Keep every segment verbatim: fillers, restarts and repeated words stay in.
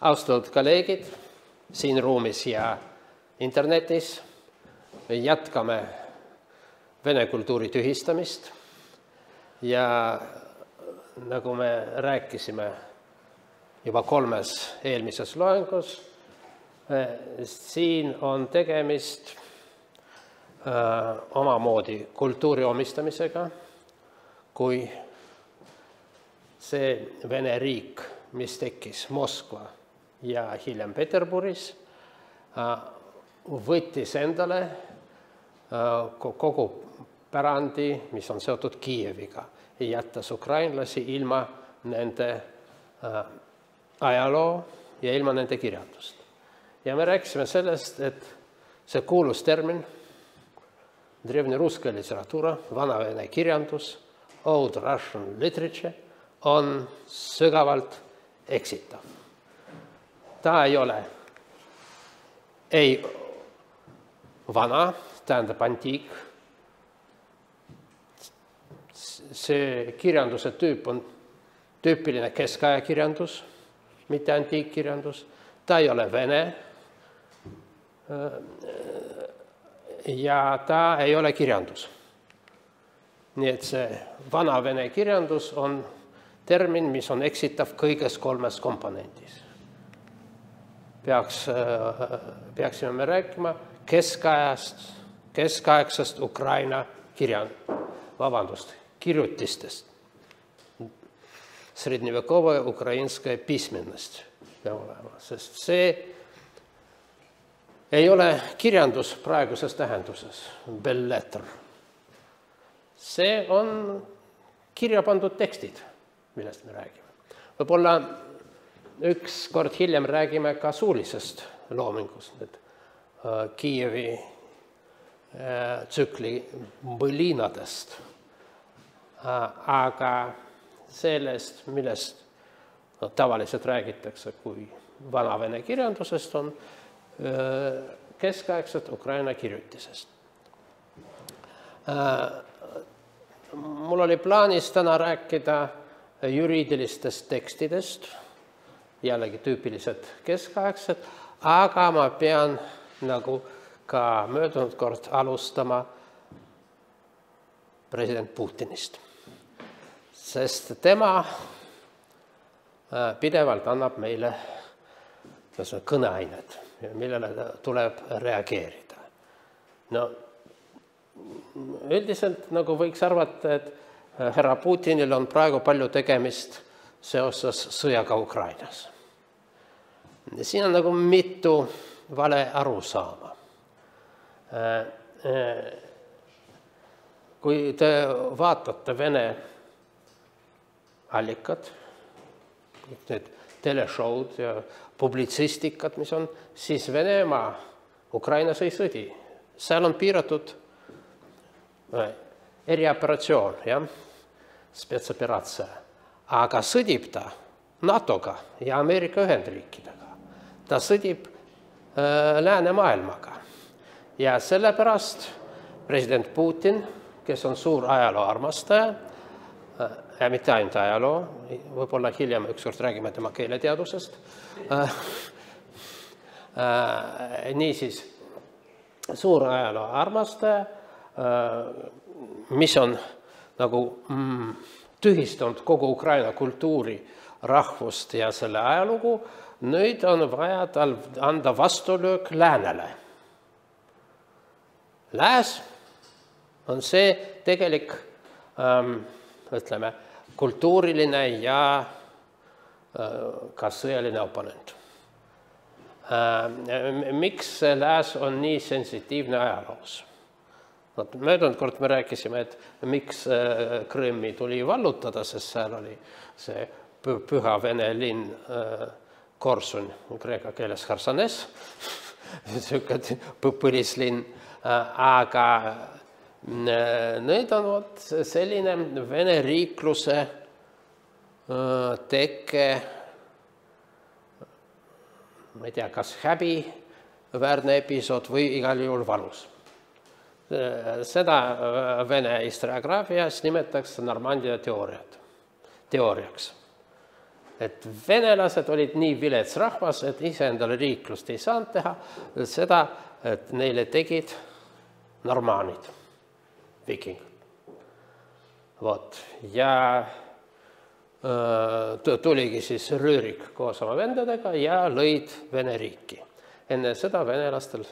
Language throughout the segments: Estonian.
Austatud kolleegid siin ruumis ja internetis, me jätkame vene kultuuri tühistamist ja nagu me rääkisime juba kolmes eelmises loengus, siin on tegemist äh, omamoodi kultuuri omistamisega, kui see Vene riik, mis tekkis Moskva ja hiljem Peterburis, võttis endale kogu pärandi, mis on seotud Kiieviga, ja jättas ukrainlasi ilma nende ajaloo ja ilma nende kirjandust. Ja me rääkisime sellest, et see kuulus termin, drevne ruska literatuura, vana vene kirjandus, old Russian literature, on sügavalt eksitav. Ta ei ole ei vana, tähendab antiik. See kirjanduse tüüp on tüüpiline keskaja kirjandus, mitte antiikkirjandus. Ta ei ole vene ja ta ei ole kirjandus. Nii et see vana vene kirjandus on termin, mis on eksitav kõiges kolmes komponendis. Peaks, peaksime me rääkima keskajast, keskaegsest Ukraina kirjan, vabandust, kirjutistest. Srednjevekova ukrainska pismennost peab olema, sest see ei ole kirjandus praeguses tähenduses, belles lettres. See on kirja pandud tekstid, millest me räägime. Võib-olla üks kord hiljem räägime ka suulisest loomingust, et Kiievi tsükli Põlinadest. Aga sellest, millest no, tavaliselt räägitakse kui vana vene kirjandusest, on keskaegset Ukraina kirjutisest. Mul oli plaanis täna rääkida juriidilistest tekstidest, jällegi tüüpilised keskaegsed, aga ma pean nagu ka möödunud kord alustama president Putinist, sest tema pidevalt annab meile kõneainet, millele tuleb reageerida. No, üldiselt nagu võiks arvata, et härra Putinil on praegu palju tegemist seoses sõjaga Ukrainas. Siin on nagu mitu vale arusaama. Kui te vaatate Vene allikad, need teleshowd ja publitsistikad, mis on, siis Venemaa Ukrainas ei sõdi. Seal on piiratud erioperatsioon, jah, spetsoperatsia. Aga sõdib ta NATOga ja Ameerika Ühendriikidega. Ta sõdib äh, läänemaailmaga. Ja sellepärast president Putin, kes on suur ajaloo armastaja, äh, ja mitte ainult ajaloo, võib-olla hiljem ükskord räägime tema keeleteadusest, äh, äh, niisiis suur ajaloo armastaja, mis on nagu mm, tühistanud kogu Ukraina kultuuri, rahvust ja selle ajalugu, nüüd on vaja tal anda vastulöök läänele. Lääs on see tegelik ähm, ütleme, kultuuriline ja äh, ka sõjaline oponent. Äh, miks lääs on nii sensitiivne ajaloos? Möödunud kord me rääkisime, et miks Krõmmi tuli vallutada, sest seal oli see püha vene linn Korsun, kreeka keeles Harsanes, põlislinn, aga nüüd on selline vene riikluse teke, ma ei tea, kas häbiväärne episood või igal juhul valus. Seda Vene historiograafias nimetatakse Normandia teooriat, teooriaks. et venelased olid nii vilets rahvas, et iseendale riiklust ei saanud teha, seda, et neile tegid normaanid, vikingid. Vot. Ja tuligi siis Rüürik koos oma vendadega ja lõid Vene riiki. Enne seda venelastel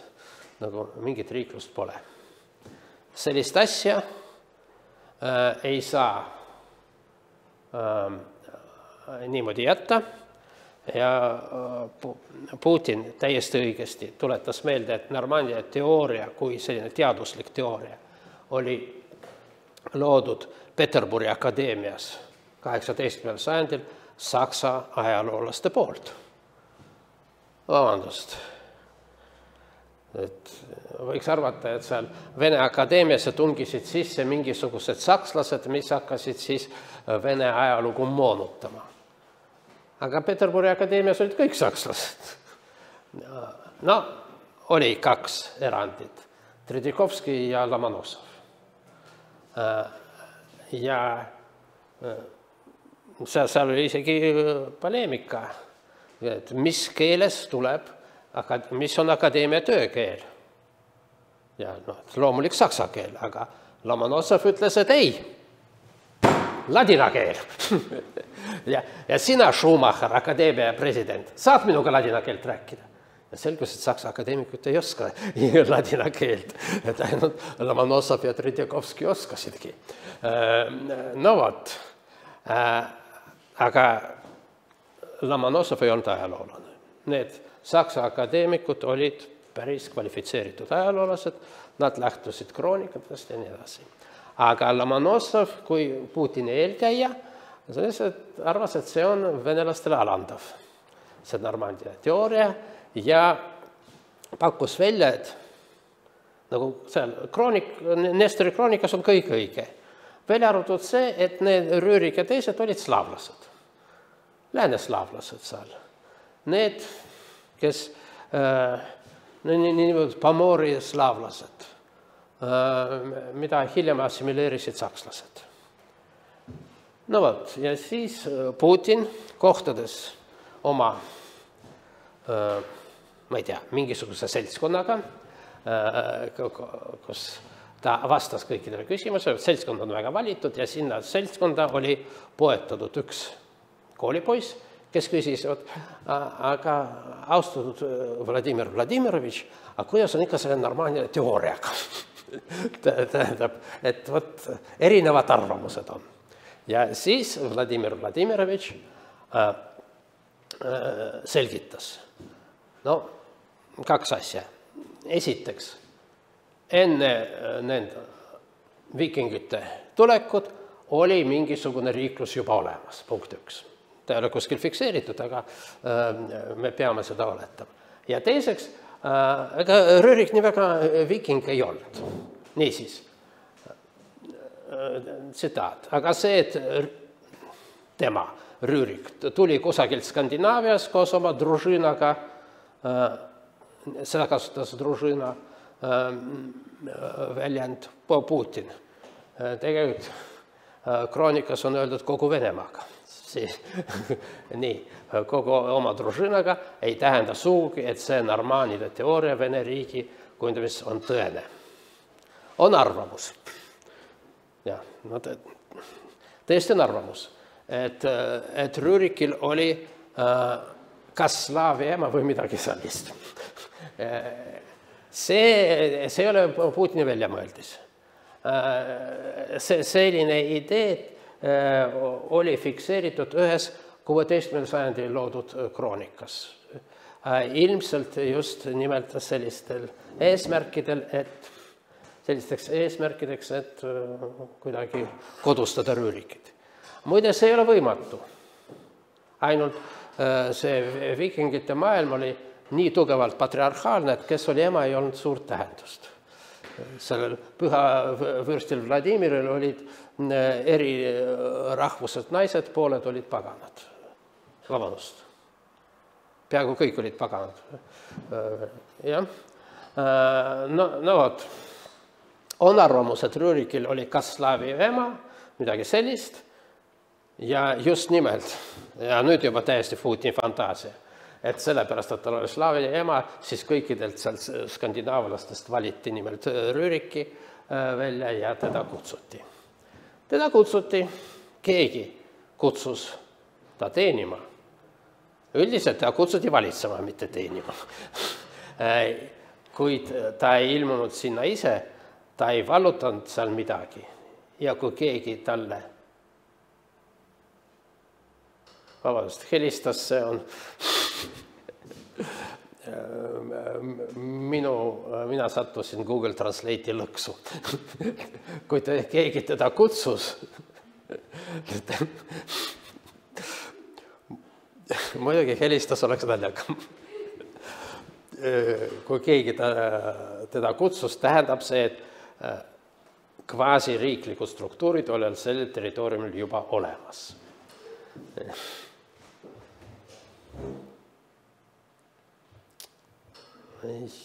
nagu mingit riiklust pole. Sellist asja äh, ei saa äh, niimoodi jätta ja äh, Putin täiesti õigesti tuletas meelde, et Normandia teooria kui selline teaduslik teooria oli loodud Peterburi akadeemias kaheksateistkümnendal sajandil Saksa ajaloolaste poolt. Vabandust. Et võiks arvata, et seal Vene akadeemiasse tungisid sisse mingisugused sakslased, mis hakkasid siis Vene ajalugu moonutama. Aga Peterburi akadeemias olid kõik sakslased. No, oli kaks erandit. Tredikovski ja Lomonosov. Ja seal oli isegi poleemika, et mis keeles tuleb, mis on akadeemia töökeel. Ja no, loomulik saksa keel, aga Lomonosov ütles, et ei, ladina keel. ja, ja sina, Schumacher, akadeemia president, saad minuga ladina keelt rääkida? Ja selgus, et saksa akadeemikud ei oska ladina keelt, et ainult Lomonosov ja Tredikovski oskasidki. No vot. Aga Lomonosov ei olnud ajaloolane. Need saksa akadeemikud olid päris kvalifitseeritud ajaloolased, nad lähtusid kroonikatest ja nii edasi. Aga Lomonosov, kui Putini eelkäija, arvas, et see on venelastele alandav. See Normandia teooria ja pakkus välja, et nagu seal kroonik, Nestori kroonikas on kõik õige. Välja arvatud see, et need Rüürik ja teised olid slaavlased, lääneslaavlased seal. Need, kes äh, niimoodi Pomori slaavlased, äh, mida hiljem assimileerisid sakslased. No vot, ja siis Putin kohtades oma, äh, ma ei tea, mingisuguse seltskonnaga, äh, kus ta vastas kõikidele küsimusele, seltskond on väga valitud ja sinna seltskonda oli poetatud üks koolipoiss, kes küsis, aga austatud Vladimir Vladimirovitš, aga kuidas on ikka selle Normandia teooriaga? Tähendab, et võt, erinevad arvamused on. Ja siis Vladimir Vladimirovitš äh, äh, selgitas. No, kaks asja. Esiteks, enne nende vikingite tulekut oli mingisugune riiklus juba olemas, punkt üks. Ta ei ole kuskil fikseeritud, aga me peame seda oletama. Ja teiseks, ega Rüürik nii väga viking ei olnud. Niisiis, tsitaat. Aga see, et tema, Rüürik, tuli kusagilt Skandinaavias koos oma družinaga, seda kasutas družina väljend Putin. Tegelikult kroonikas on öeldud kogu Venemaaga. Nii, kogu oma družinaga ei tähenda suugi, et see normaanide teooria Vene riigi kujundamis on tõene. On arvamus. Ja, no tõesti on arvamus, et, et Rüürikil oli kas slaavi ema või midagi sellist. See, see ei ole Putini väljamõeldis. See, selline idee oli fikseeritud ühes kuueteistkümnendal sajandil loodud kroonikas. Ilmselt just nimelt sellistel eesmärkidel, et sellisteks eesmärkideks, et kuidagi kodustada Rüürikit. Muide, see ei ole võimatu. Ainult see vikingite maailm oli nii tugevalt patriarhaalne, et kes oli ema, ei olnud suurt tähendust. Sellel püha vürstil Vladimiril olid eri rahvused naised, pooled olid paganad. Vabandust. Peaaegu kõik olid paganad. jah. No, no vot. On arvamus, et Rüürikil oli kas slaavi ema, midagi sellist, Ja just nimelt, ja nüüd juba täiesti Putini fantaasia, et sellepärast, et tal oli slaavi ema, siis kõikidelt seal skandinaavlastest valiti nimelt Rüriki välja ja teda kutsuti. Teda kutsuti, keegi kutsus ta teenima. Üldiselt ta kutsuti valitsema, mitte teenima. Kuid ta ei ilmunud sinna ise, ta ei vallutanud seal midagi. Ja kui keegi talle vabandust, helistas, see on minu, mina sattusin Google Translate'i lõksu. Kui te, keegi teda kutsus, muidugi helistas oleks naljakam. Kui keegi ta, teda kutsus, tähendab see, et kvaasiriiklikud struktuurid olid sellel territooriumil juba olemas.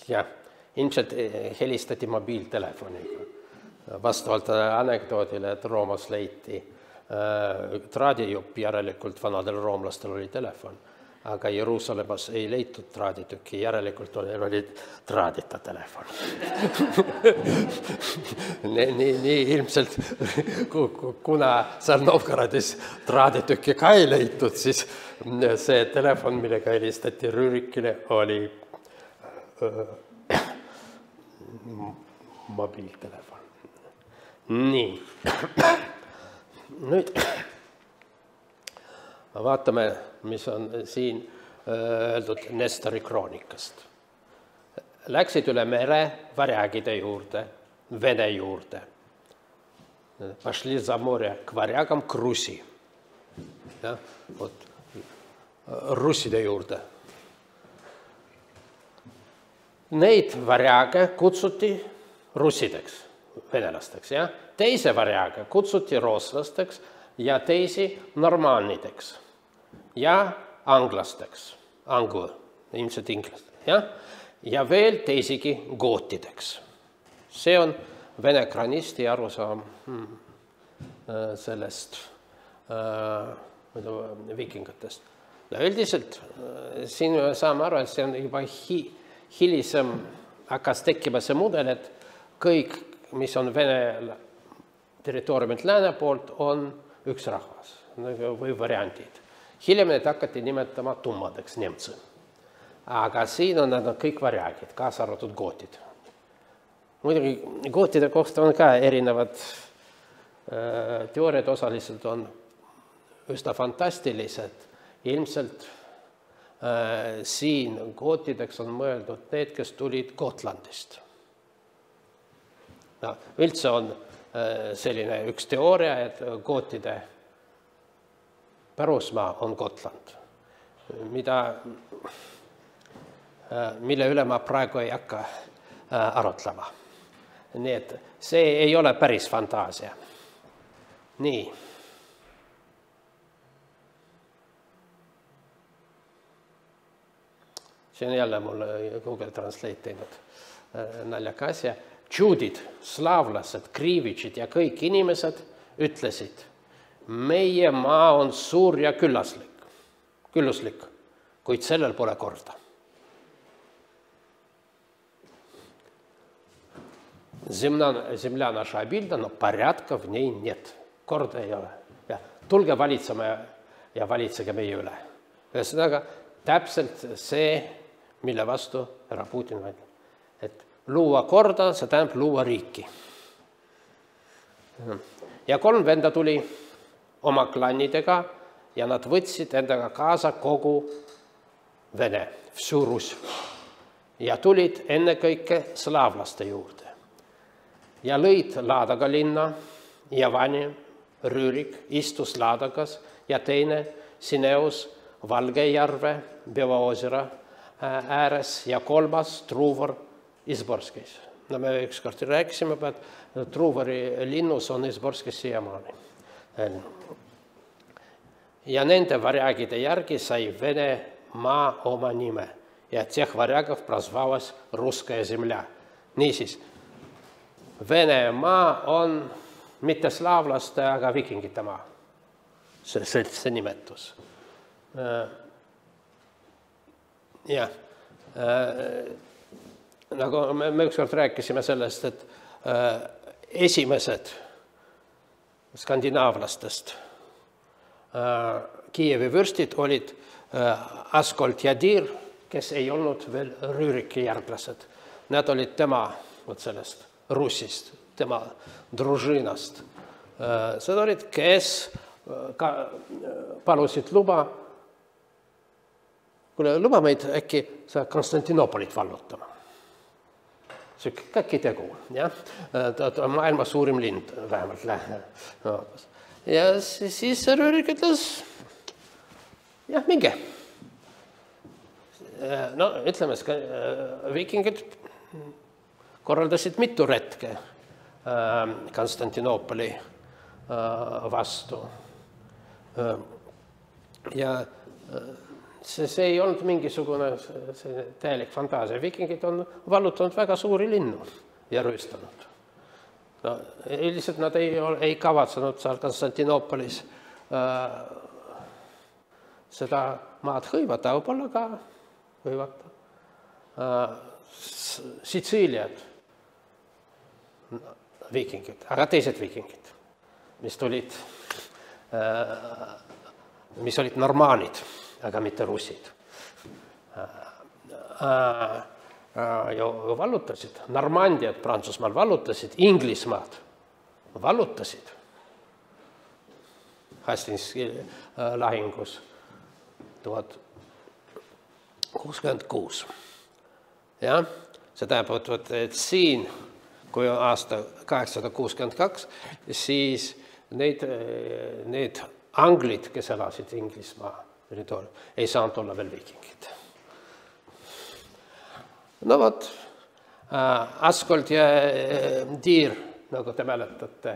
Jah, ilmselt helistati mobiiltelefoniga. Vastavalt anekdoodile, et Roomas leiti traadijupp, järelikult vanadel roomlastel oli telefon, aga Jeruusalemmas ei leitud traaditükki, järelikult oli traadita telefon. nii, nii, nii ilmselt, kuna seal Novgorodis traaditükki ka ei leitud, siis see telefon, millega helistati Rürikile, oli mobiiltelefon. Nii. Nüüd vaatame, mis on siin öeldud Nestori kroonikast. Läksid üle mere varjagide juurde, Vene juurde. Пошли за море к варягам, к Руси. Ja, вот, russide juurde. Neid varjage kutsuti russideks, venelasteks. Ja? Teise varjage kutsuti rooslasteks ja teisi normaalnideks ja anglasteks, anglo, ilmselt inglased. Ja? Ja veel teisigi gootideks. See on vene kranisti arusaam sellest vikingatest. Üldiselt siin saame aru, et see on juba hi hilisem hakkas tekkima see mudel, et kõik, mis on Vene territooriumilt lääne poolt, on üks rahvas või variandid. Hiljem need hakati nimetama tummadeks nemtsi. Aga siin on nad kõik varjagid, kaasa arvatud gootid. Muidugi gootide kohta on ka erinevad äh, teooriad, osaliselt on üsna fantastilised. Ilmselt äh, siin gootideks on mõeldud need, kes tulid Gotlandist. No, üldse on äh, selline üks teooria, et gootide pärusmaa on Gotland, mida, äh, mille üle ma praegu ei hakka äh, arutlema. Nii et see ei ole päris fantaasia. Nii. See on jälle mul Google Translate teinud naljaka asja. Džuudid, slaavlased, kriivitšid ja kõik inimesed ütlesid, meie maa on suur ja küllaslik, külluslik, kuid sellel pole korda. Земля, земля наша обильна, но порядка в ней нет. Korda ei ole. Ja, tulge valitsema ja, ja valitsege meie üle. Ühesõnaga, täpselt see, mille vastu härra Putin väidab. Et luua korda, see tähendab luua riiki. Ja kolm venda tuli oma klannidega ja nad võtsid endaga kaasa kogu Vene, всю Ruсь. Ja tulid ennekõike slaavlaste juurde. Ja lõid Laadaga linna ja Vani, Rüürik istus Laadagas ja teine Sineus Valgejärve, Bevaosera ääres ja kolmas Truvor Izborskis. No me ükskord rääkisime, et Truvori linnus on Izborskis siiamaani. Ja nende varjagide järgi sai Vene maa oma nime ja тех варягов прозвалась Русская земля. Niisiis, Vene maa on mitte slaavlaste, aga vikingite maa. see, see, see nimetus. Jah, nagu me, me ükskord rääkisime sellest, et esimesed skandinaavlastest Kiievi vürstid olid Askold ja Dir, kes ei olnud veel Rüüriki järglased. Nad olid tema võt sellest Russist, tema družinast. Seda olid, kes ka palusid luba, kuule, luba meid äkki sa Konstantinopolit vallutama. See käki tegu, jah? Maailma suurim lind vähemalt läheb. Ja siis Rüürik ütles, jah, minge. No, ütleme, viikingid korraldasid mitu retke Konstantinopoli vastu. Ja see, see ei olnud mingisugune täielik fantaasia. Viikingid on vallutanud väga suuri linnu ja rüüstanud. No, üldiselt nad ei, ei kavatsenud seal Konstantinopolis äh, seda maad hõivata, aga võib-olla ka hõivata. Äh, Sitsiiliad, viikingid, aga teised viikingid, mis tulid, äh, mis olid normaanid, aga mitte russid. Jo vallutasid, Normandiad Prantsusmaal vallutasid, Inglismaad vallutasid Hastingsi lahingus tuhat kuuskümmend kuus. Ja, see tähendab, et siin, kui on aasta kaheksasada kuuskümmend kaks, siis need, need anglid, kes elasid Inglismaa territooriumil, ei saanud olla veel viikingid. No vot, Askold ja Dir, nagu te mäletate,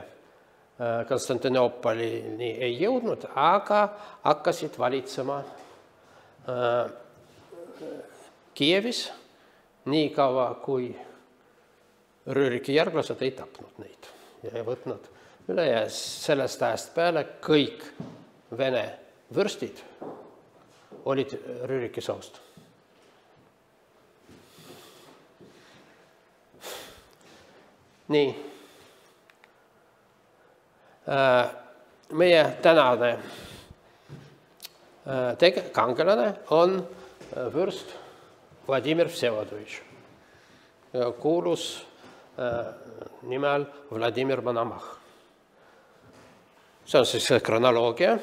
Konstantinopolini ei jõudnud, aga hakkasid valitsema Kiievis nii kaua, kui Rüüriki järglased ei tapnud neid ja ei võtnud üle. Ja sellest ajast peale kõik Vene vürstid olid Rüüriki soost. Nii. Meie tänane kangelane on vürst Vladimir Vsevolodovitš. Kuulus nimel Vladimir Monomah. See on siis kronoloogia.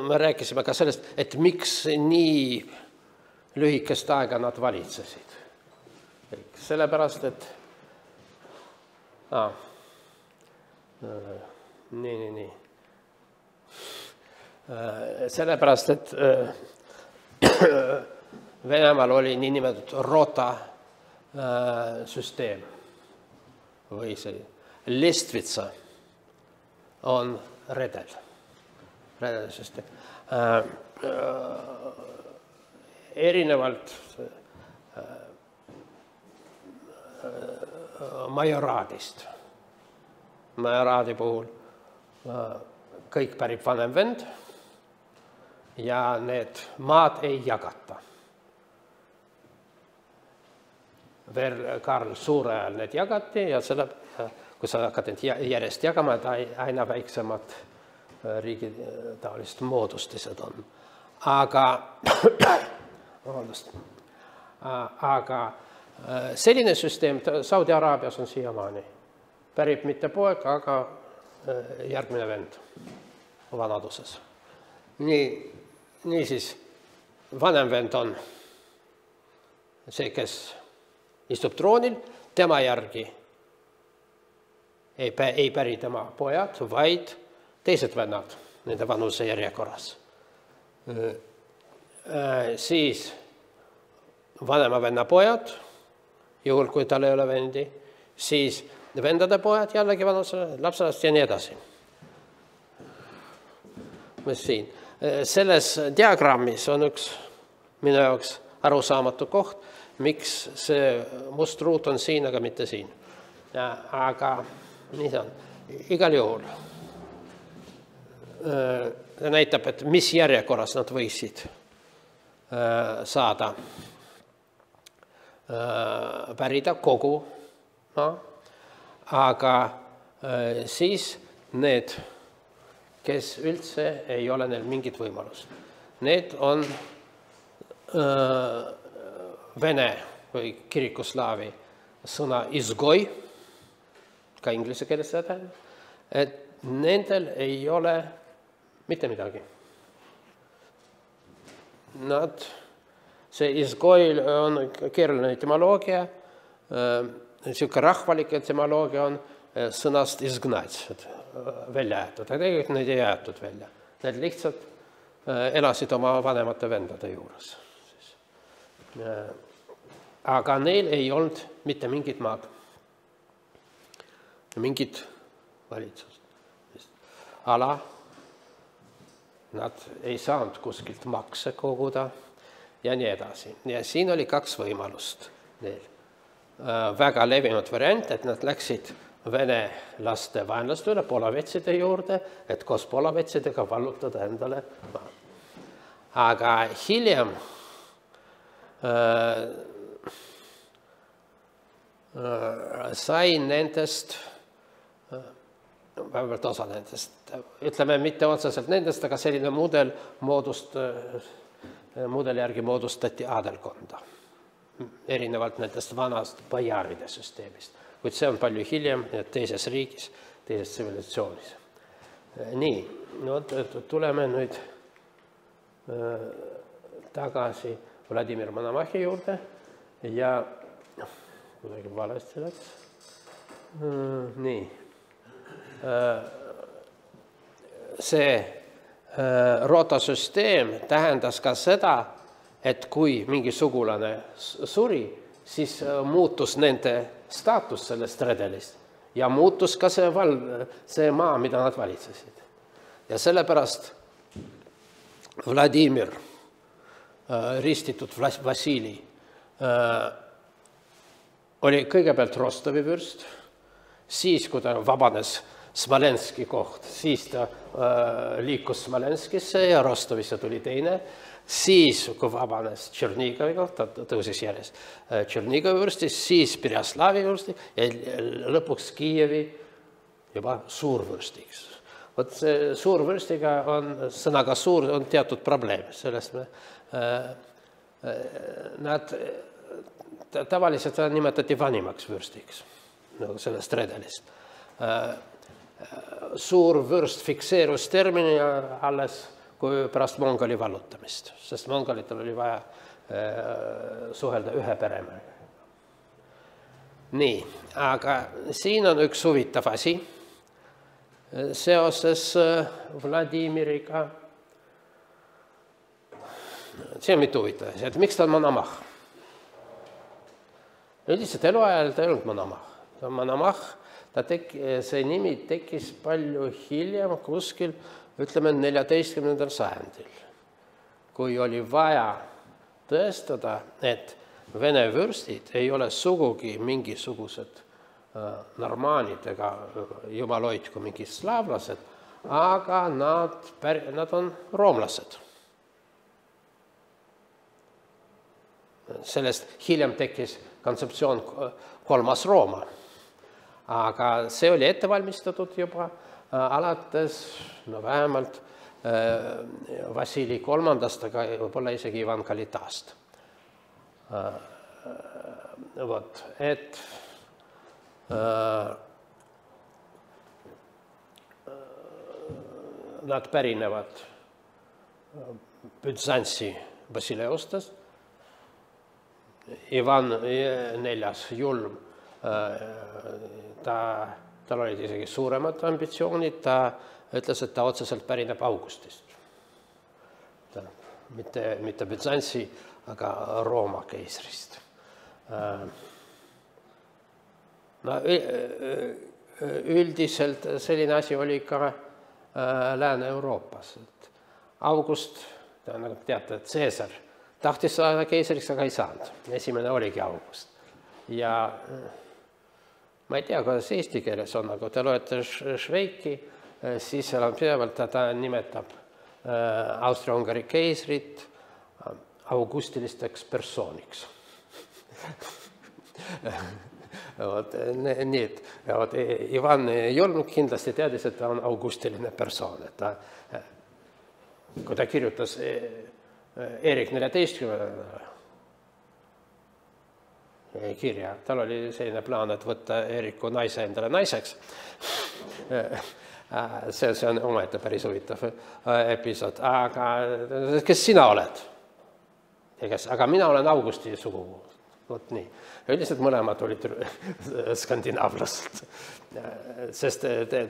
Me rääkisime ka sellest, et miks nii lühikest aega nad valitsesid. Sellepärast, et ah, nii, nii, nii. Sellepärast, et Venemaal oli nii nimetatud rota süsteem või see Lestvitsa on redel, redel süsteem. Erinevalt majoraadist. Majoraadi puhul kõik pärib vanem vend ja need maad ei jagata. Veel Karl Suure ajal need jagati ja selle, kui sa hakkad need järjest jagama, et aina väiksemad riigi taolist moodustised on. Aga, aga selline süsteem Saudi Araabias on siiamaani. Pärib mitte poeg, aga järgmine vend vanaduses. Nii, nii siis vanem vend on see, kes istub troonil, tema järgi ei, ei päri tema pojad, vaid teised vennad nende vanuse järjekorras. Siis vanema venna pojad, juhul kui tal ei ole vendi, siis vendade pojad jällegi vanuse lapselast ja nii edasi. Siin. Selles diagrammis on üks minu jaoks arusaamatu koht, miks see must ruut on siin, aga mitte siin. aga nii see on. Igal juhul see näitab, et mis järjekorras nad võisid saada pärida kogu, no, aga siis need, kes üldse ei ole neil mingit võimalust. Need on vene või kirikuslaavi sõna izgoi, ka inglise keeles seda tähendab, et nendel ei ole mitte midagi. Nad, see izgoi on keeruline etymoloogia, niisugune rahvalik etymoloogia on sõnast izgnat, välja jäetud, aga tegelikult neid ei jäetud välja. Need lihtsalt elasid oma vanemate vendade juures. Aga neil ei olnud mitte mingit maad, mingit valitsust. Ala, nad ei saanud kuskilt makse koguda ja nii edasi. Ja siin oli kaks võimalust neil. Väga levinud variant, et nad läksid vene laste vaenlaste üle polavetside juurde, et koos polavetsidega vallutada endale maad. Aga hiljem äh, äh, sai nendest, vähemalt osa nendest, ütleme mitte otseselt nendest, aga selline mudel moodust, mudeli järgi moodustati adelkonda, erinevalt nendest vanast bajaaride süsteemist. Kuid see on palju hiljem teises riigis, teises tsivilisatsioonis. Nii, no, tuleme nüüd tagasi Vladimir Monomahi juurde ja kuidagi valesti läks. Nii. See rotasüsteem tähendas ka seda, et kui mingi sugulane suri, siis muutus nende staatus sellest redelist ja muutus ka see, val, see maa, mida nad valitsesid. Ja sellepärast Vladimir, ristitud Vassili, oli kõigepealt Rostovi vürst, siis kui ta vabanes Smolenski koht, siis ta liikus Smolenskisse ja Rostovisse tuli teine, siis kui vabanes Tšernigovi koht, ta tõusis järjest Tšernigovi vürstis, siis Pirjaslavi vürsti ja lõpuks Kiievi juba suurvürstiks. Vot see suurvürstiga on, sõnaga suur on teatud probleem, sellest me, nad tavaliselt nimetati vanimaks vürstiks, nagu sellest redelist. Suur vürst fikseerus termini alles kui pärast Mongoli vallutamist, sest mongolitel oli vaja suhelda ühe peremärga. Nii, aga siin on üks huvitav asi seoses Vladimiriga. See on mitu huvitav asi, et miks ta on Monomah? Üldiselt eluajal ta ei olnud Monomah. Ta on Monomah, ta tek, see nimi tekkis palju hiljem kuskil, ütleme neljateistkümnendal sajandil, kui oli vaja tõestada, et vene vürstid ei ole sugugi mingisugused normaanid ega jumal hoidku mingid slaavlased, aga nad, nad on roomlased. Sellest hiljem tekkis kontseptsioon kolmas Rooma, aga see oli ettevalmistatud juba alates no vähemalt Vassili kolmandast, aga võib-olla isegi Ivan Kalitast. Vot, et nad pärinevad Büzantsi Basileustest. Ivan neljas julm, ta, tal olid isegi suuremad ambitsioonid, ta ütles, et ta otseselt pärineb Augustist. Ta, mitte, mitte Büzantsi, aga Rooma keisrist. No, üldiselt selline asi oli ka Lääne-Euroopas. August, nagu teate, Caesar tahtis saada keisriks, aga ei saanud. Esimene oligi August. Ja ma ei tea, kuidas eesti keeles on, aga kui te loete Šveiki, siis seal on pidevalt, ta nimetab Austria-Ungari keisrit augustilisteks persooniks. Vot, nii, et vot, Ivan Jolnuk kindlasti teadis, et ta on augustiline persoon. Et ta, kui ta kirjutas Erik neljateistkümnendale kirja, tal oli selline plaan, et võtta Eriku naise endale naiseks. See, see on omaette päris huvitav episood. Aga kes sina oled? Aga mina olen Augusti sugukuu. Vot nii. Üldiselt mõlemad olid skandinaavlased. Sest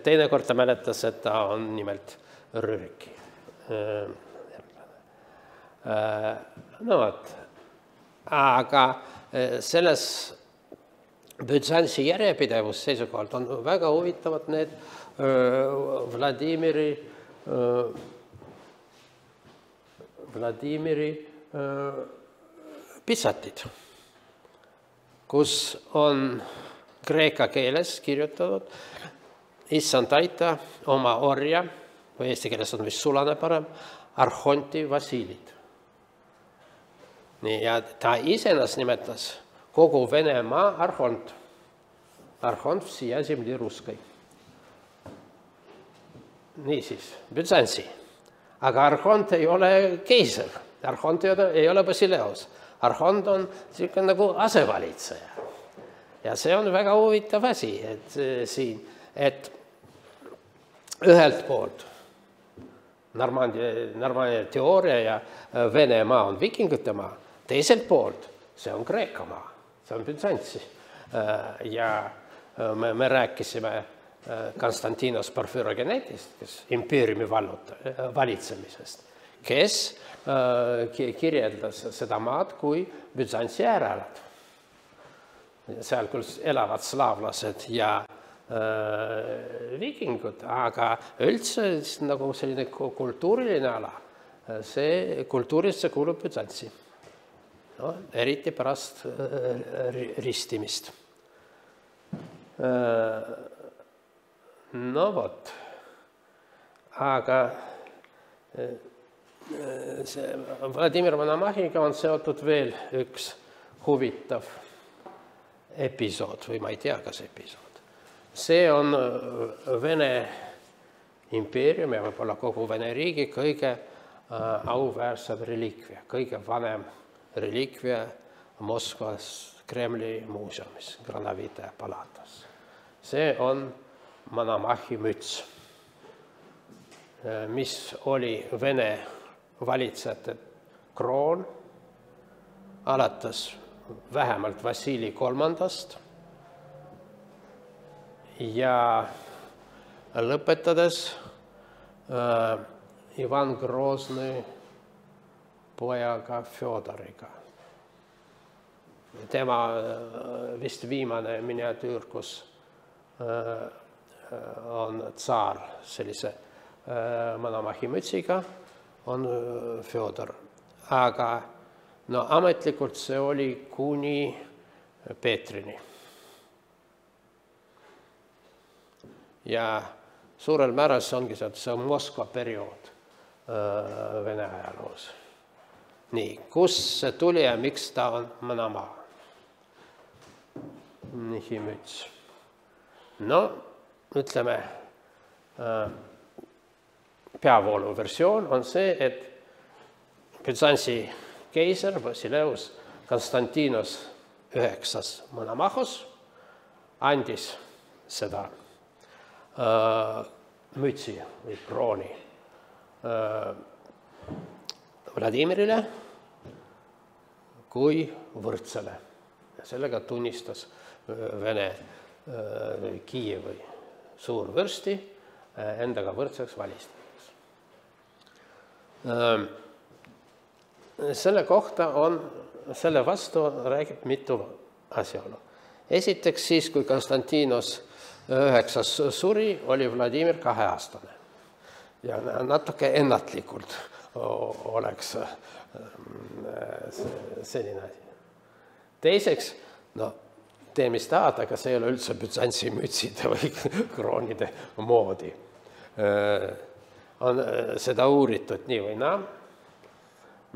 teine kord ta mäletas, et ta on nimelt Rüriki. No vot. Aga selles Büzantsi järjepidevus seisukohalt on väga huvitavad need Vladimiri Vladimiri pitsatid, kus on kreeka keeles kirjutatud issand aita oma orja, või eesti keeles on vist sulane parem, Arhonti Vasilit. Nii, ja ta isenas nimetas kogu Venemaa arhont. Arhont всея земли русской. Niisiis, Büzantsi. Aga arhont ei ole keiser. Arhont ei ole Basileus. Arhont on selline nagu asevalitseja. Ja see on väga huvitav asi, et siin, et ühelt poolt Normandia, Normandia teooria ja Venemaa on vikingute maa, teiselt poolt see on Kreeka maa, see on Büzantsi. Ja me, me rääkisime Konstantinos Porfürogenetist, kes impeeriumi valitsemisest, kes kirjeldas seda maad kui Büzantsi äärelad. Seal küll elavad slaavlased ja vikingud, aga üldse nagu selline kultuuriline ala, see kultuurisse kuulub Büzantsi. No, eriti pärast ristimist. No vot, aga see Vladimir Monomahiga on seotud veel üks huvitav episood, või ma ei tea, kas episood. See on Vene impeerium ja võib-olla kogu Vene riigi kõige auväärsem reliikvia, kõige vanem reliikvia Moskvas Kremli muuseumis, Granovite palatas. See on Monomahi müts, mis oli Vene valitsejate kroon alates vähemalt Vassili kolmandast ja lõpetades äh, Ivan Groznõi pojaga Fjodoriga. Tema äh, vist viimane miniatüür, kus äh, on tsaar sellise äh, Monomahi mütsiga, on äh, Fjodor. Aga no ametlikult see oli kuni Peetrini. Ja suurel määral see ongi see, see on Moskva periood äh, Vene ajaloos. Nii, kus see tuli ja miks ta on Monomaa? Nihi müts. No, ütleme, äh, peavoolu versioon on see, et Büzantsi keiser Basileus Konstantinos üheksas Monomahos andis seda äh, mütsi või krooni äh, Vladimirile kui võrdsele. Ja sellega tunnistas Vene äh, Kiievi suurvürsti äh, endaga võrdseks valistamiseks. Äh, Selle kohta on, selle vastu räägib mitu asjaolu. Esiteks siis, kui Konstantinos üheksas suri, oli Vladimir kaheaastane. Ja natuke ennatlikult oleks selline asi. Teiseks, no, tee mis tahad, aga see ei ole üldse Bütsantsi mütside või kroonide moodi. On seda uuritud nii või naa.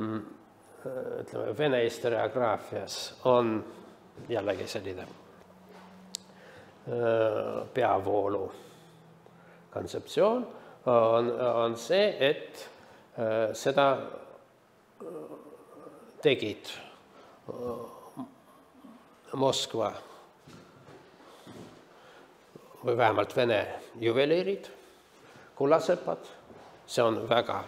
Ütleme, vene historiograafias on jällegi selline peavoolu kontseptsioon, on, on see, et seda tegid Moskva või vähemalt Vene juveliirid, kullasepad, see on väga,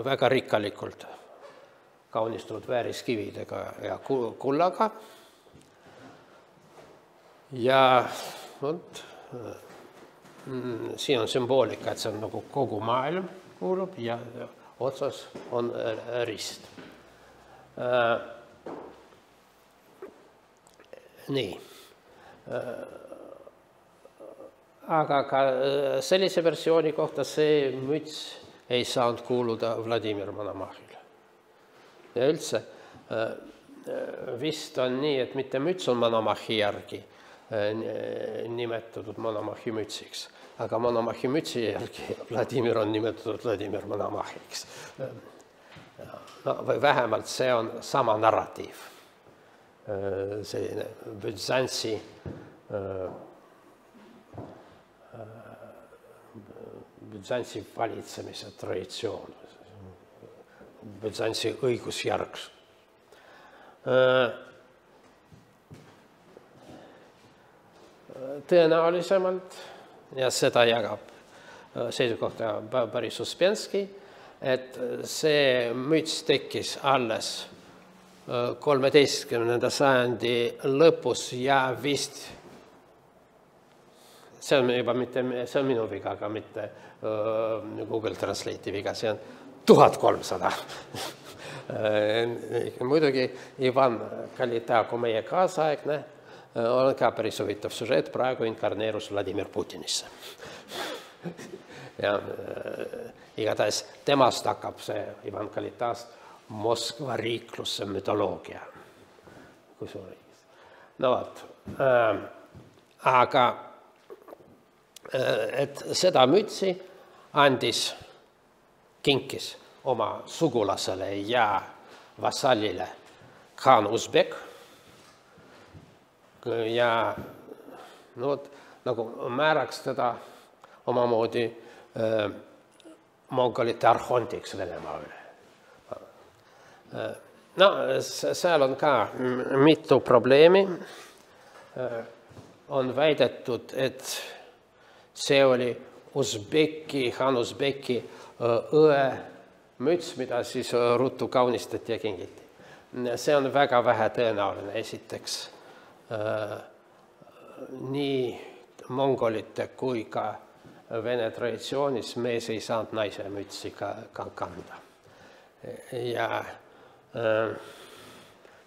väga rikkalikult kaunistunud vääriskividega ja kullaga. Ja võt, siin on sümboolika, et see on nagu kogu maailm kuulub ja otsas on rist. Nii. Aga ka sellise versiooni kohta see müts ei saanud kuuluda Vladimir Monomahhile. Ja üldse vist on nii, et mitte müts on Monomahhi järgi nimetatud Monomahhi mütsiks, aga Monomahhi mütsi järgi Vladimir on nimetatud Vladimir Monomahhiks. No, või vähemalt see on sama narratiiv. Selline Bütsantsi Bütsantsi valitsemise traditsioon, Bütsantsi õigusjärgs. Tõenäolisemalt, ja seda jagab seisukohta päris Uspenski, et see müts tekkis alles kolmeteistkümnenda sajandi lõpus ja vist, see on juba mitte, see on minu viga, aga mitte Google Translate'i viga, see on tuhat kolmsada. Muidugi Ivan Kalitaku meie kaasaegne on ka päris huvitav sužeet, praegu inkarneerus Vladimir Putinisse. Ja igatahes temast hakkab see Ivan Kalitast Moskva riikluse mütoloogia. Kui suur riigis. No vaat, aga et seda mütsi andis, kinkis oma sugulasele ja vassallile Khan Usbek ja no, nagu määraks teda omamoodi äh, mongolite arhondiks Venemaa üle. No, seal on ka mitu probleemi. On väidetud, et see oli Usbeki, Khan Usbeki õe müts, mida siis ruttu kaunistati ja kingiti. See on väga vähe tõenäoline, esiteks nii mongolite kui ka Vene traditsioonis mees ei saanud naise mütsi ka, ka kanda. Ja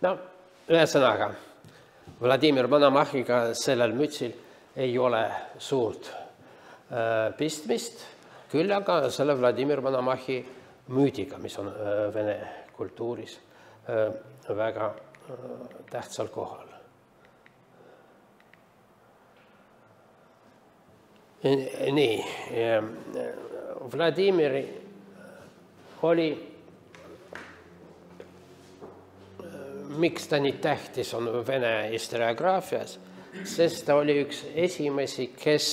no, ühesõnaga, Vladimir Monomahhiga sellel mütsil ei ole suurt pistmist, küll aga selle Vladimir Monomahhi müüdiga, mis on Vene kultuuris väga tähtsal kohal. Nii, Vladimiri oli, miks ta nii tähtis on Vene historiograafias, sest ta oli üks esimesi, kes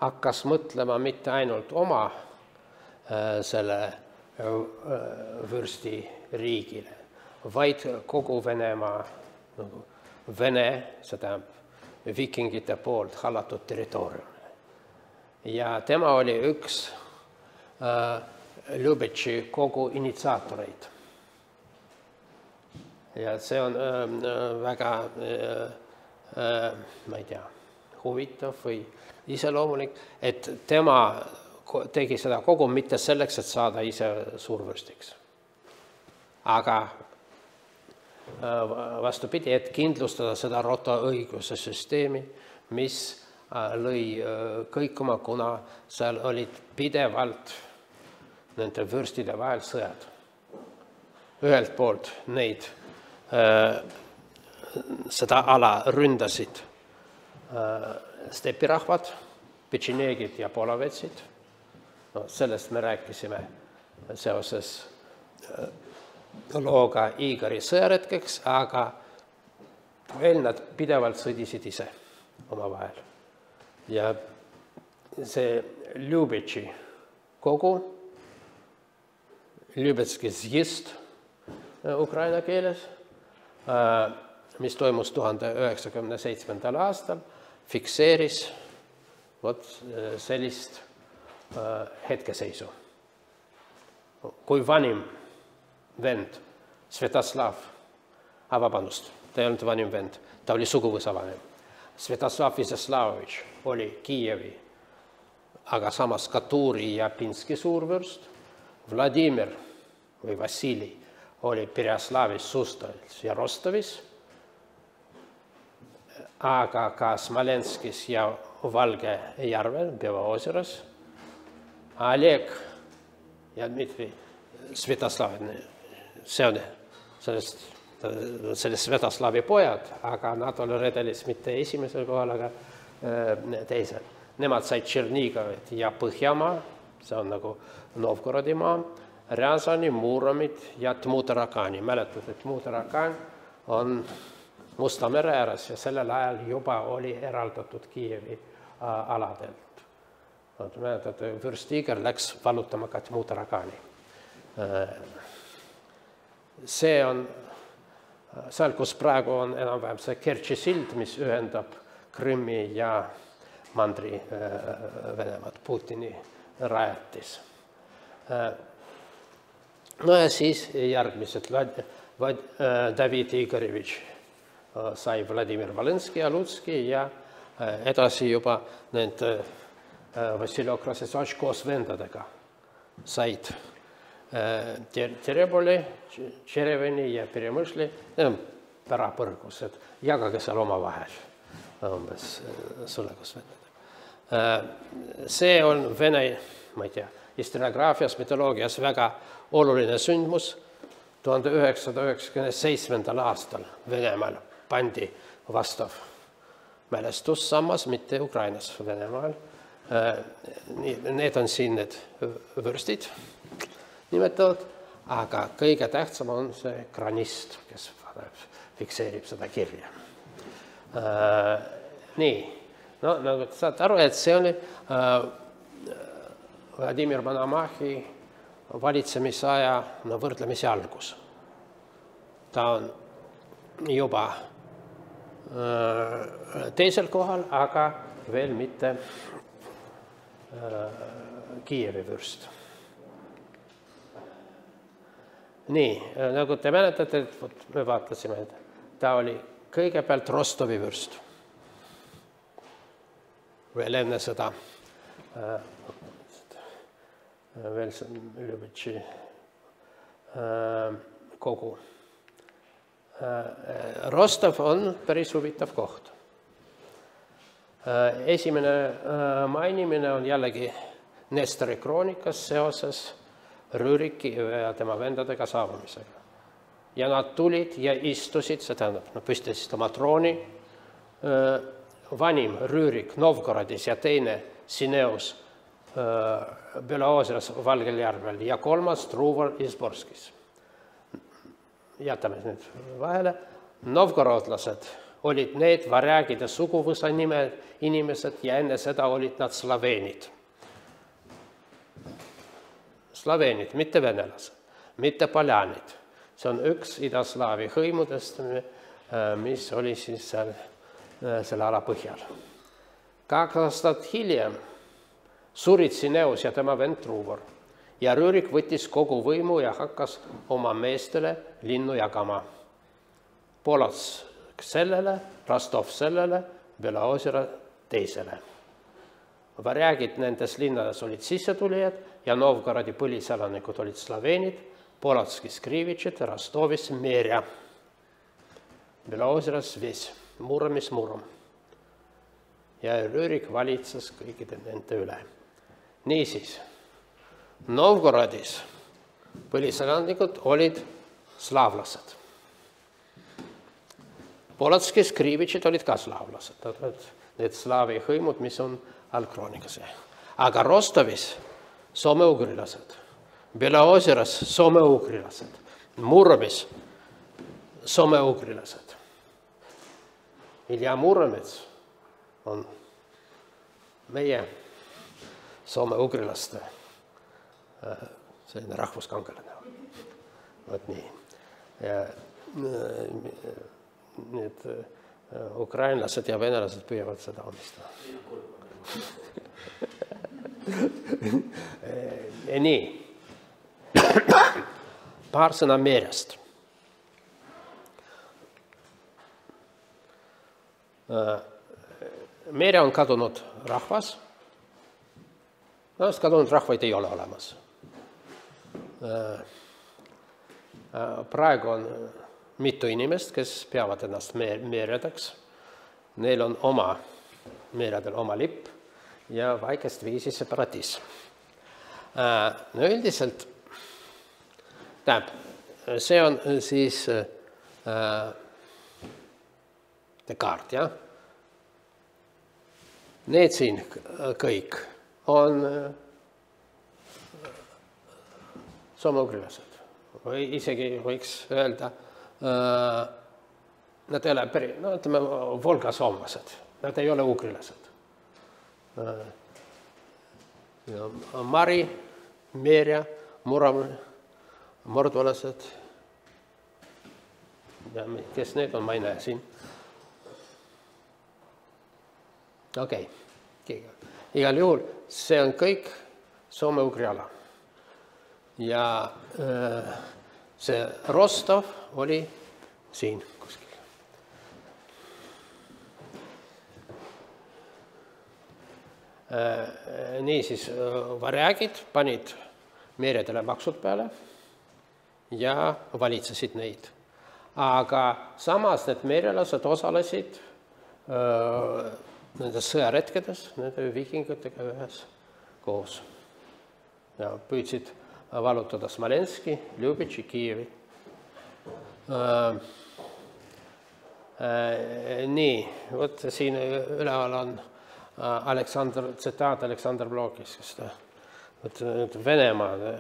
hakkas mõtlema mitte ainult oma selle vürsti riigile, vaid kogu Venemaa, Vene, seda vikingite poolt hallatud territoorium. Ja tema oli üks Ljubetši kogu initsiaatoreid. Ja see on väga, ma ei tea, huvitav või iseloomulik, et tema tegi seda kogu mitte selleks, et saada ise suurvürstiks. Aga vastupidi, et kindlustada seda rotaõiguse süsteemi, mis lõi kõikuma, kuna seal olid pidevalt nende vürstide vahel sõjad. Ühelt poolt neid seda ala ründasid stepirahvad, petšeneegid ja polovetsid. No, sellest me rääkisime seoses looga Igori sõjaretkeks, aga veel nad pidevalt sõdisid ise omavahel. Ja see Ljubetši kogu, Ljubetski zjist ukraina keeles, mis toimus tuhande üheksakümne seitsmendal aastal, fikseeris vot sellist hetkeseisu. Kui vanim vend, Svetoslav, a vabandust, ta ei olnud vanim vend, ta oli suguvõsa vanem. Svetoslav Izeslavovitš oli Kiievi, aga samas Katuri ja Pinski suurvürst, Vladimir või Vassili oli Pereaslavis, Sustovis ja Rostovis, aga ka Smolenskis ja Valge järvel, Beloozeras, Oleg ja Dmitri Svetoslav, see on sellest, sellest Svetoslavi pojad, aga nad oli redelis mitte esimesel kohal, aga teisel. Nemad said Tšernigovit ja Põhjamaa, see on nagu Novgorodi maa, Rязani, Muromit ja Tmutarakani. Mäletad, et Tmutarakan on Musta mere ääres ja sellel ajal juba oli eraldatud Kiievi aladelt. Mäletad, vürst Igor läks valutama ka Tmutarakani. See on seal, kus praegu on enam-vähem see Kertši sild, mis ühendab Krimmi ja Mandri Venemaad, Putini rajatis. No ja siis järgmised David Igorevitš sai Vladimir Volenski ja Lutski ja edasi juba need Vassiljev Krasetsovitš koos vendadega said Tereboli, Tšereveni ja Peremõšli pärapõrgus, et jagage seal oma vahel umbes sulekus vendadega. See on Vene, ma ei tea, historiograafias, mütoloogias väga oluline sündmus. tuhande üheksasada üheksakümne seitsmendal aastal Venemaal pandi vastav mälestussammas, mitte Ukrainas, Venemaal. Need on siin need vürstid nimetatud, aga kõige tähtsam on see kranist, kes fikseerib seda kirja. Nii, no nagu saad aru, et see oli Vladimir Monomahi valitsemisaja no, võrdlemisi algus. Ta on juba teisel kohal, aga veel mitte Kiievi vürst. Nii, nagu te mäletate, et me vaatasime, et ta oli kõigepealt Rostovi vürst. Veel enne seda veel Ljubetši kogu. Rostov on päris huvitav koht. Esimene mainimine on jällegi Nestori kroonikas seoses Rüüriki ja tema vendadega saabumisega. Ja nad tulid ja istusid, see tähendab, nad püstitasid oma trooni, vanim Rüürik Novgorodis ja teine Sineus Beloozeras Valgel järvel ja kolmas Truvor Izborskis. Jätame nüüd vahele. Novgorodlased olid need varjagide suguvõsa nime inimesed ja enne seda olid nad slaveenid. Slaveenid, mitte venelased, mitte poljanid. See on üks idaslaavi hõimudest, mis oli siis seal, selle ala põhjal. Kaks aastat hiljem surid Sineus ja tema vend Truvor ja Rüürik võttis kogu võimu ja hakkas oma meestele linnu jagama. Polotsk sellele, Rostov sellele, Beloozera teisele. Varjagid nendes linnades olid sissetulijad ja Novgorodi põliselanikud olid slaveenid, Polotskis Krivitšid, Rostovis Merja, Beloozeras Ves, Muromis Murom. Ja Rüürik valitses kõikide nende üle. Niisiis, Novgorodis põliselanikud olid slaavlased. Polotskis Krivitšid olid ka slaavlased, need slaavi hõimud, mis on algkroonikas. Aga Rostovis soome-ugrilased, Belaozeras soome-ugrilased, Muromis soome-ugrilased. Ilja Muromets on meie soome-ugrilaste selline rahvuskangelane. Vot nii. Ja need ukrainlased ja venelased püüavad seda omistada. Nii. Paar sõna merest. Mere on kadunud rahvas. No, kadunud rahvaid ei ole olemas. Praegu on mitu inimest, kes peavad ennast meredeks. Neil on oma, meredel oma lipp ja väikest viisi separatism. No üldiselt, tähendab, see on siis see kaart, jah? Need siin kõik on soome-ugrilased. Või isegi võiks öelda, nad ei ole peri, no ütleme, volga-soomlased. Nad ei ole ugrilased. Mari, Merja, Murom, mordvalased. Ja kes need on, ma ei näe siin. Okei, okay. Igal juhul see on kõik soome-ugri ala. Ja see Rostov oli siin kuskil. Nii siis varjagid panid meredele maksud peale ja valitsesid neid. Aga samas need merelased osalesid nendes sõjaretkedes, nende viikingatega ühes koos. Ja püüdsid valutada Smolenski, Ljubitši, Kiievi. Nii, võt siin üleval on Aleksander, tsitaat Aleksander Blokis, kes ta Venemaa,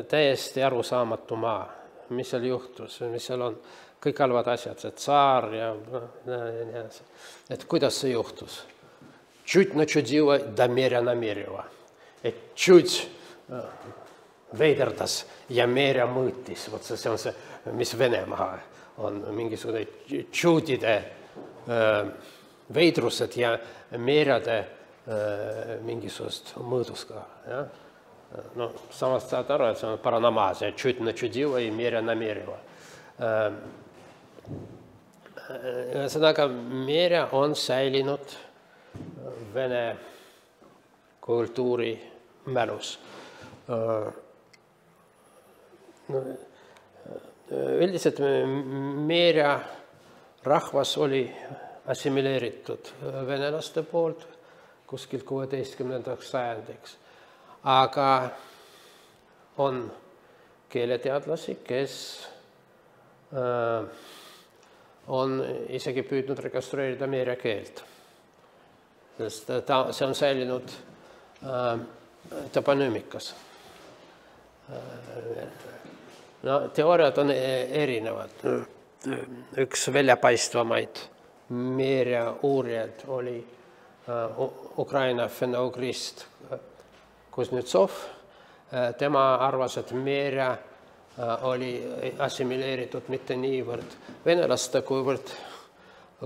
täiesti arusaamatu maa, mis seal juhtus, mis seal on, kõik halvad asjad, see tsaar ja et kuidas see juhtus. Чуть начудила до меря намерила. Et чуть veiderdas ja merja mõõtis. Vot see on see, mis Venemaa on mingisugune tšuudide veidrused ja merjade mingisugust mõõdus ka. Ja? No, samast saad aru, et see on paranamaasia. Чуть начудила ja merja намерила. Ühesõnaga, merja on säilinud vene kultuuri mälus. Üldiselt merja rahvas oli assimileeritud venelaste poolt kuskil kuueteistkümnendaks sajandiks. Aga on keeleteadlasi, kes on isegi püüdnud rekonstrueerida merja keelt. Sest ta, see on säilinud toponüümikas. No, teooriad on erinevad. Üks väljapaistvamaid merja uurijad oli Ukraina fenougrist Kuznetsov. Tema arvas, et merja oli assimileeritud mitte niivõrd venelaste, kuivõrd,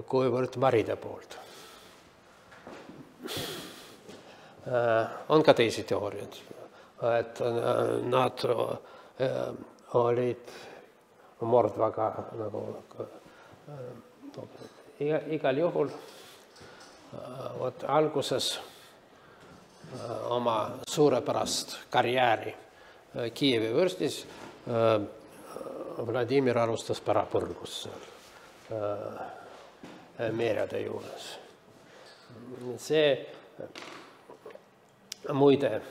kuivõrd maride poolt. On ka teisi teooriad, et nad olid mordvaga nagu igal juhul võt, alguses oma suurepärast karjääri Kiievi võrstis Vladimir alustas pärapõrgus merjade juures. See muide,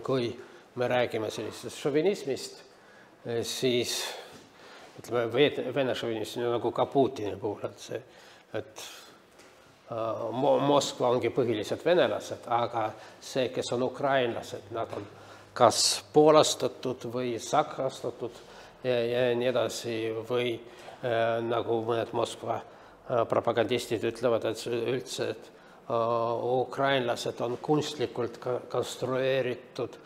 kui me räägime sellisest šovinismist, siis ütleme, vene šovinism nagu ka Putini puhul, et see, et Moskva ongi põhiliselt venelased, aga see, kes on ukrainlased, nad on kas poolastatud või sakrastatud ja, ja nii edasi või äh, nagu mõned Moskva äh, propagandistid ütlevad, et üldse, et äh, ukrainlased on kunstlikult konstrueeritud äh,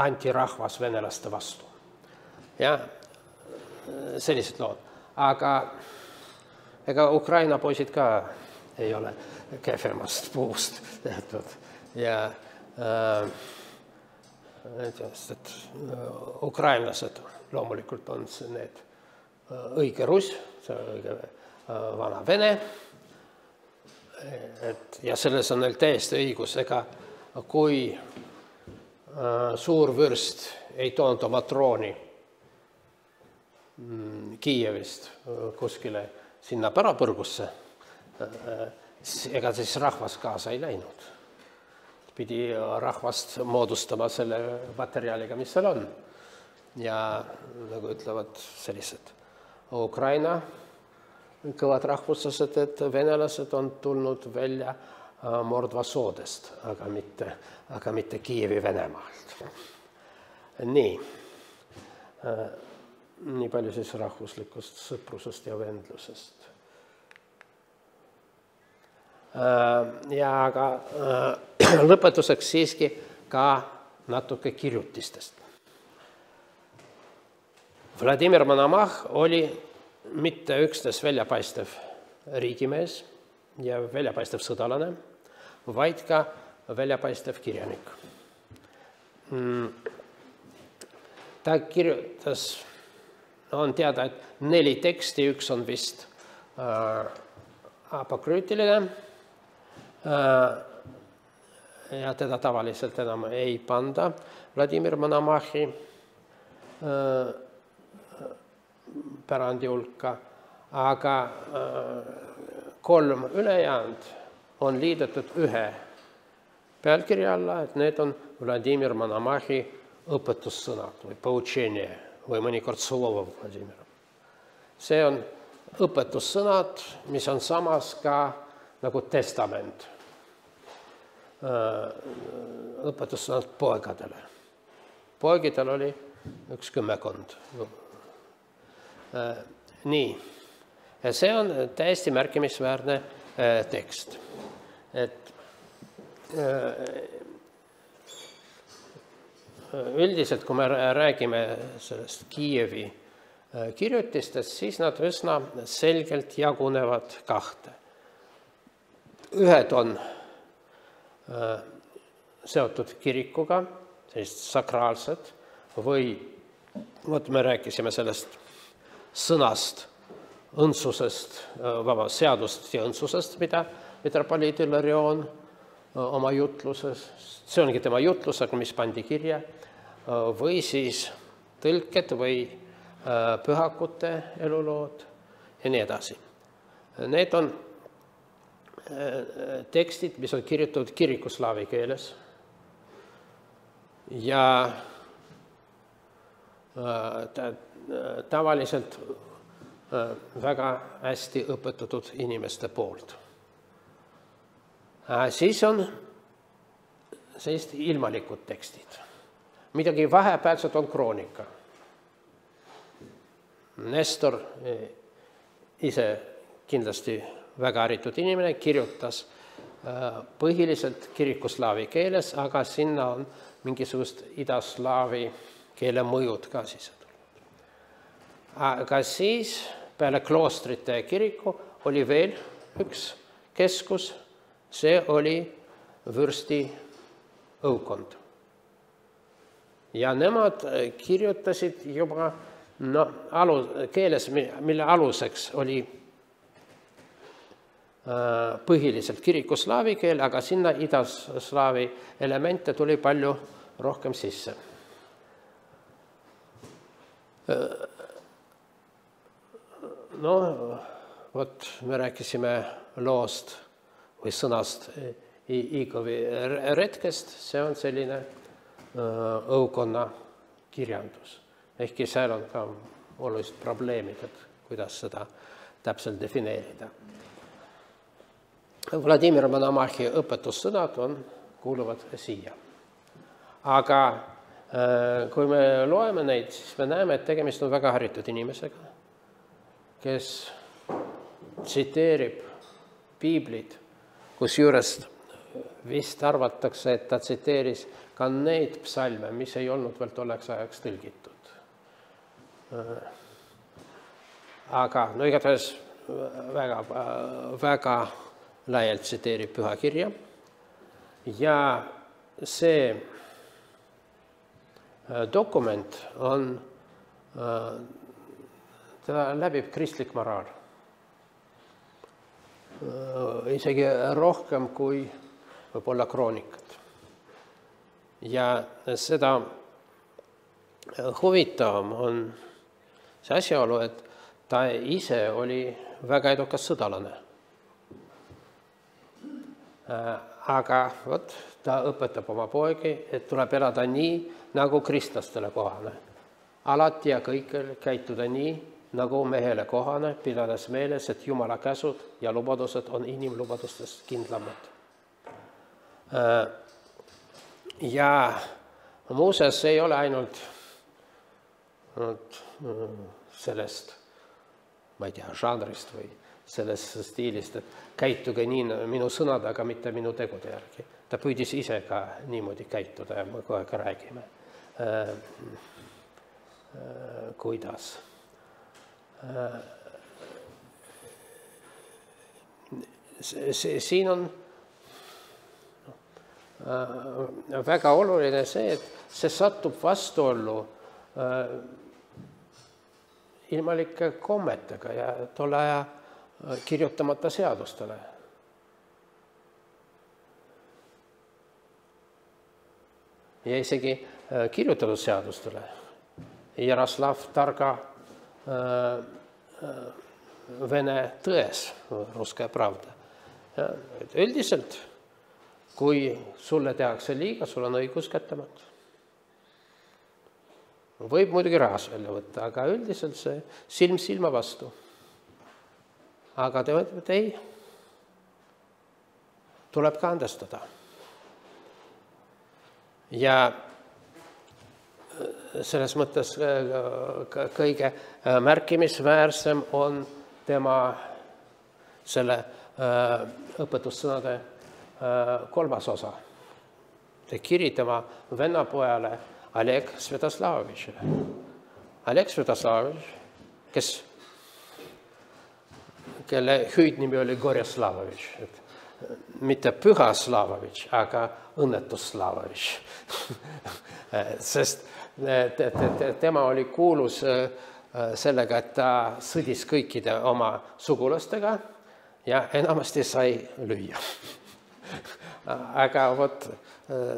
antirahvas venelaste vastu. Ja sellised lood. Aga ega Ukraina poisid ka ei ole kehvemast puust tehtud. Ja äh, et, et ukrainlased loomulikult on need õige russ, see on õige vana vene. Et, ja selles on neil täiesti õigus, ega kui äh, suur vürst ei toonud oma trooni Kiievist kuskile sinna pärapõrgusse, ega siis rahvas kaasa ei läinud. Pidi rahvast moodustama selle materjaliga, mis seal on. Ja nagu ütlevad sellised Ukraina kõvad rahvuslased, et venelased on tulnud välja Mordva soodest, aga mitte, aga mitte Kiievi Venemaalt. Nii. Nii palju siis rahvuslikust sõprusest ja vendlusest. Ja aga lõpetuseks siiski ka natuke kirjutistest. Vladimir Monomach oli mitte üksnes väljapaistev riigimees ja väljapaistev sõdalane, vaid ka väljapaistev kirjanik. Ta kirjutas on teada, et neli teksti, üks on vist äh, apokrüütiline äh, ja teda tavaliselt enam ei panda Vladimir Monomachi äh, pärandi hulka, aga äh, kolm ülejäänud on liidetud ühe pealkirja alla, et need on Vladimir Monomachi õpetussõnad või poučenie või mõnikord Solovov Vladimir. See on õpetussõnad, mis on samas ka nagu testament. Õpetussõnad poegadele. Poegidel oli üks kümmekond. Nii. Ja see on täiesti märkimisväärne tekst. Et üldiselt, kui me räägime sellest Kiievi kirjutistest, siis nad üsna selgelt jagunevad kahte. Ühed on seotud kirikuga, sellised sakraalsed, või vot me rääkisime sellest sõnast, õndsusest, vaba, seadust ja õndsusest, mida metropoliit Ilarion oma jutluses, see ongi tema jutlus, aga mis pandi kirja, või siis tõlked või pühakute elulood ja nii edasi. Need on tekstid, mis on kirjutatud kirikuslaavi keeles ja tavaliselt väga hästi õpetatud inimeste poolt. Siis on sellised ilmalikud tekstid. Midagi vahepealset on kroonika. Nestor, ise kindlasti väga haritud inimene, kirjutas põhiliselt kirikuslaavi keeles, aga sinna on mingisugust idaslaavi keele mõjud ka sisse tulnud. Aga siis peale kloostrite ja kiriku oli veel üks keskus, see oli vürsti õukond. Ja nemad kirjutasid juba no, alu, keeles, mille aluseks oli äh, põhiliselt kirikuslaavi keel, aga sinna idaslaavi elemente tuli palju rohkem sisse. No, vot me rääkisime loost või sõnast Igovi retkest, see on selline õukonna kirjandus. Ehkki seal on ka olulised probleemid, et kuidas seda täpselt defineerida. Vladimir Monomachi õpetussõnad on, kuuluvad siia. Aga kui me loeme neid, siis me näeme, et tegemist on väga haritud inimesega, kes tsiteerib piiblit, kusjuures vist arvatakse, et ta tsiteeris ka neid psalme, mis ei olnud veel tolleks ajaks tõlgitud. Aga no igatahes väga, väga laialt tsiteerib pühakirja ja see dokument on, teda läbib kristlik moraal. Isegi rohkem kui võib-olla kroonikad. Ja seda huvitavam on see asjaolu, et ta ise oli väga edukas sõdalane. Aga võt, ta õpetab oma poegi, et tuleb elada nii, nagu kristlastele kohane. Alati ja kõikjal käituda nii, nagu mehele kohane, pidades meeles, et Jumala käsud ja lubadused on inimlubadustest kindlamad. Ja muuseas ei ole ainult sellest, ma ei tea, žanrist või sellest stiilist, et käituge nii minu sõnad, aga mitte minu tegude järgi. Ta püüdis ise ka niimoodi käituda ja me kohe ka räägime. Kuidas? Siin on väga oluline see, et see satub vastuollu ilmalike kommetega ja tolle aja kirjutamata seadustele. Ja isegi kirjutatud seadustele. Jaroslav Targa Vene tões, Ruskaya Pravda. Üldiselt, kui sulle tehakse liiga, sul on õigus kättemaks. Võib muidugi rahas välja võtta, aga üldiselt see silm silma vastu. Aga te mõtlete, et ei, tuleb ka andestada. Ja selles mõttes kõige märkimisväärsem on tema selle õpetussõnade kolmas osa. See kiri tema vennapojale Oleg Svjatoslavovitšile. Oleg Svjatoslavovitš, kes, kelle hüüdnimi oli Gorjaslavovitš, mitte Püha Slavovitš, aga õnnetus Slavovitš. Sest tema oli kuulus sellega, et ta sõdis kõikide oma sugulastega ja enamasti sai lüüa. Aga vot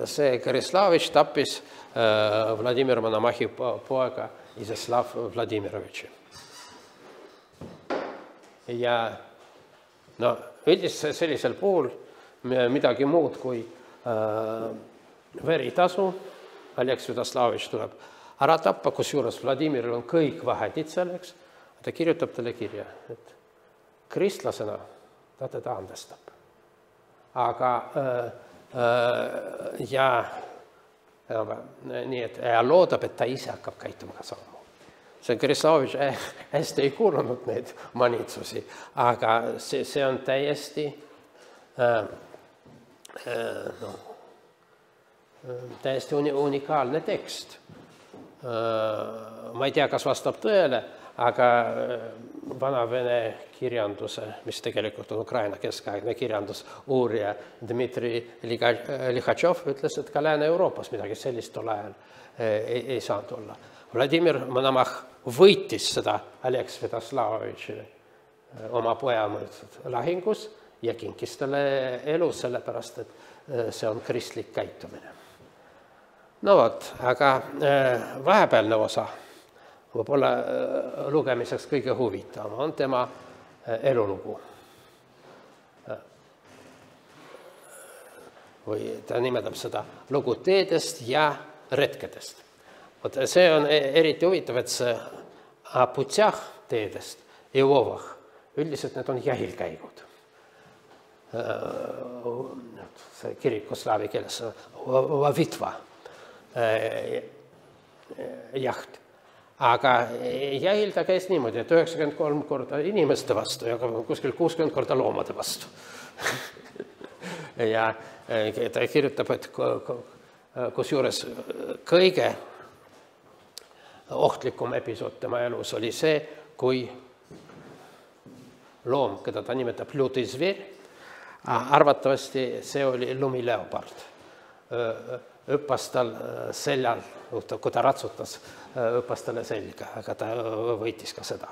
see Gorjaslavovitš tappis Vladimir Monomachi poega Iziaslav Vladimirovitši. Ja no, üldiselt sellisel puhul midagi muud kui veritasu Oleg Svjatoslavovitš tuleb ära tappa, kusjuures Vladimiril on kõik vahendid selleks, ta kirjutab talle kirja, et kristlasena ta teda andestab. Aga ja nii, et loodab, et ta ise hakkab käituma ka sama. See Gorjaslavovitš hästi ei kuulunud neid manitsusi, aga see, see on täiesti no, täiesti unikaalne tekst. Ma ei tea, kas vastab tõele, aga vana-vene kirjanduse, mis tegelikult on Ukraina keskaegne kirjandus, uurija Dmitri Likhatšov ütles, et ka Lääne-Euroopas midagi sellist tol ajal ei, ei saanud olla. Vladimir Monomach võitis seda Oleg Svjatoslavovitšile oma poja lahingus ja kinkis talle elu sellepärast, et see on kristlik käitumine. No vot, aga vahepealne osa, võib-olla lugemiseks kõige huvitavam, on tema elulugu. Või ta nimetab seda lugu teedest ja retkedest. See on eriti huvitav, et see A putjah teedest ja Vovah üldiselt need on jahilkäigud. See kirikuslaavi keeles Vavitva jaht. Aga jahil ta käis niimoodi, et üheksakümmend kolm korda inimeste vastu ja kuskil kuuskümmend korda loomade vastu. Ja ta kirjutab, et kusjuures kõige ohtlikum episood tema elus oli see, kui loom, keda ta nimetab Lutizver, arvatavasti see oli lumileopard. Õppas tal seljal, kui ta ratsutas, õppas talle selga, aga ta võitis ka seda.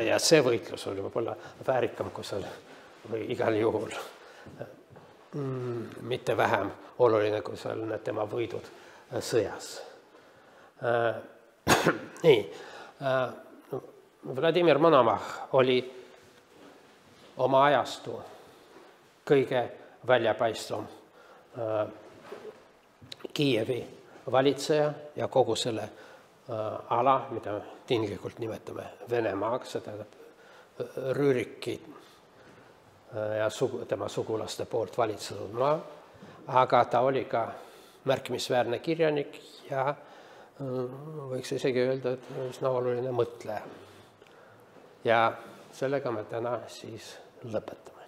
Ja see võitlus oli võib-olla väärikam, kui seal või igal juhul mitte vähem oluline, kui seal need tema võidud sõjas. Nii, Vladimir Monomah oli oma ajastu kõige väljapaistvam Kiievi valitseja ja kogu selle ala, mida tinglikult nimetame Venemaaks, seda Rüüriki ja tema sugulaste poolt valitsenud maa, aga ta oli ka märkimisväärne kirjanik ja võiks isegi öelda, et üsna oluline mõtleja. Ja sellega me täna siis lõpetame.